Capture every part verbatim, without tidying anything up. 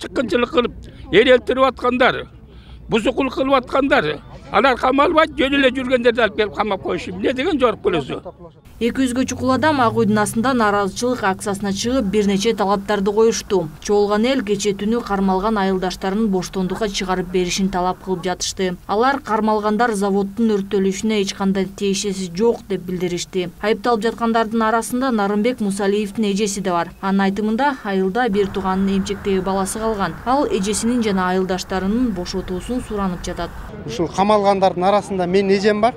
чыккынчылык кылып, эл элтирип аткандар, бузукулук кылып аткандар, алар камалбай жөн эле жүргөндөрдү алып келип камап коюшу. Эмне деген жорук болосу? эки жүзгө чукул адам Ак Үйдүн астында нааразычылык акциясына чыгып, бир нече талаптарды коюшту. Чогулган эл кече түнү кармалган айылдаштарын боштондукка чыгарып беришин талап кылып жатышты. Алар кармалгандар заводдун өрттөлүшүнө эч кандай тиешеси жок деп билдиришти. Айыпталып жаткандардын арасында Нарымбек Мусалиевдин эжеси да бар. Анын айтымында, айылда бир тууганын эмчектеги баласы калган. Ал эжесинин жана айылдаштарынын бошотуусун суранып жатат. Ушул камалгандардын арасында менин эжем бар,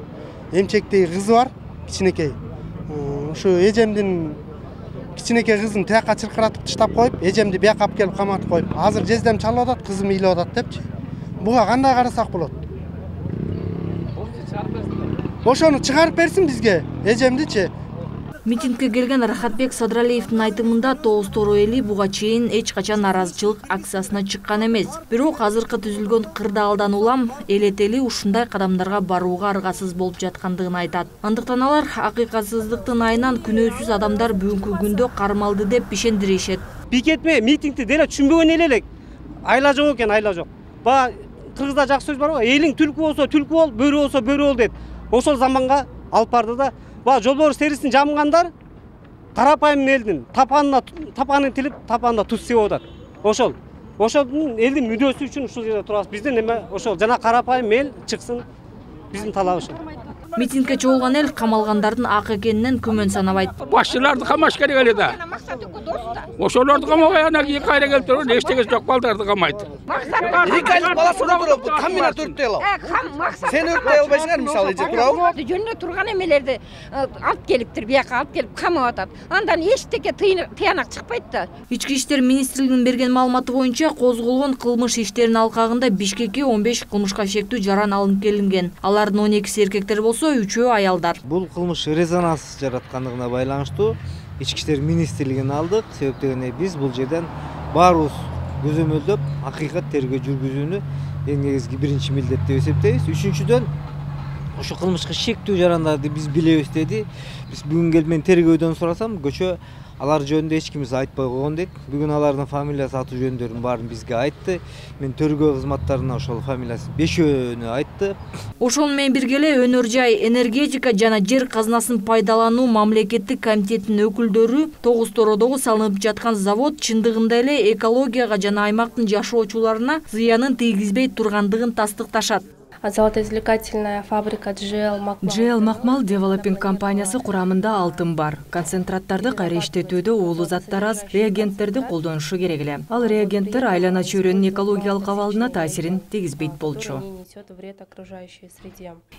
эмчектеги кызы бар, кичинекей. Ушу эжемдин кичинекей кызын тияка чыркыратып таштап коюп, эжемди бияка алып келип каматып коюп, азыр жездем чалып атат, кызым ыйлап атат депчи. Буга кандай карасак болот? Ошону чыгарып берсин бизге, эжемдичи. Митингге келген Рахатбек Садралиевдин айтымында Тогуз Тору эли буга чейин эч качан нааразычылык акциясына чыккан эмес. Бирок азыркы түзүлгөн кырдаалдан улам элет эли ушундай кадамдарга барууга аргасыз болуп жаткандыгын айтат. Андыктан алар акыйкатсыздыктын айынан күнөөсүз адамдар бүгүнкү күндө кармалды деп ишендиришет. Пикетме митингди деле түшүнбөгөн эл элек. Айла жок экен, айла жок. Баа кыргызда жакшы сөз бар го, элиң түлкү болсо түлкү бол, бөрү болсо бөрү бол дейт. Ошол заманга алып барды да. Ба жолборс терисин жамгандар карапайым элдин тапанына тапанын тилип, тапанына туз себип атат. Ошол. Ошолдун элдин мүдөөсү үчүн ушул жерде турабыз. Биздин эме ошол жана карапайым эл чыксын. Биздин талабыбыз. Митингге чогулган эл камалгандардын ак экенинен күмөн санабайт. Башчыларды камаш керек эле да. Ошолорду камабай ана кийин кайра келип туруп эчтегеси жок балдарды камайт. Эки айлык баласы да туруп, комбинат өрттөй алат. Сен өрттөй албайсыңар, мисалы, эже турабы? Жөнүнө турган эмелерди алып келиптир, бияка алып келип камап атат. Андан эчтеке тыянак чыкпайт да. Ички иштер министрлигинин берген маалыматы боюнча, козголгон кылмыш иштеринин алкагында Бишкекке он беш кылмышка шектүү жаран алынып келинген. Алардын он экиси эркектер болсо, үчөө аялдар. Бул кылмыш резонанс жараткандыгына байланыштуу Ички иштер министрлигин алдык. Себеп дегенде биз бул жерден баарыбыз көзөмөлдөп, акыйкат тергөө жүргүзүүнү эң негизги биринчи милдет деп эсептейбиз. Үчүнчүдөн, ошо кылмышка шектүү жарандарды биз билебиз деди. Биз бүгүн келип мен тергөөдөн сурасам, көчө алар жөнүндө эч кимиз айтпай койгон дейт. Бүгүн алардын фамилиясы, аты жөндөрүн баарын бизге айтты. Мен тергөө кызматтарына ошол фамилиясы бешөөнү айтты. Ошол менен бирге эле өнөр жай, энергетика жана жер казынасын пайдалануу мамлекеттик комитетинин өкүлдөрү Тогуз Тородогу салынып жаткан завод чындыгында эле экологияга жана аймактын жашоочуларына зыянын тийгизбей тургандыгын тастыкташат. Золотоизвлекательная фабрика джи эл Макмал. джи эл Макмал девелопинг компаниясы курамында алтын бар. Концентраттарды кайра иштетүүдө уулуу заттар аз, реагенттерди колдонушу керек эле. Ал реагенттер айлана чөйрөнүн экологиялык абалына таасирин тийгизбейт болчу.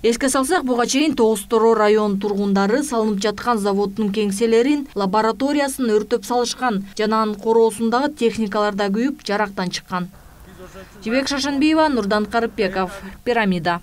Эске салсак, буга чейин Тогуз Тороо районунун тургундары салынып жаткан заводдун кеңселерин, лабораториясын өртөп салышкан жана анын короосундагы техникалар да күйүп, жарактан чыккан. Жибек Шашанбиева, Нурдан Карыпбеков, Пирамида.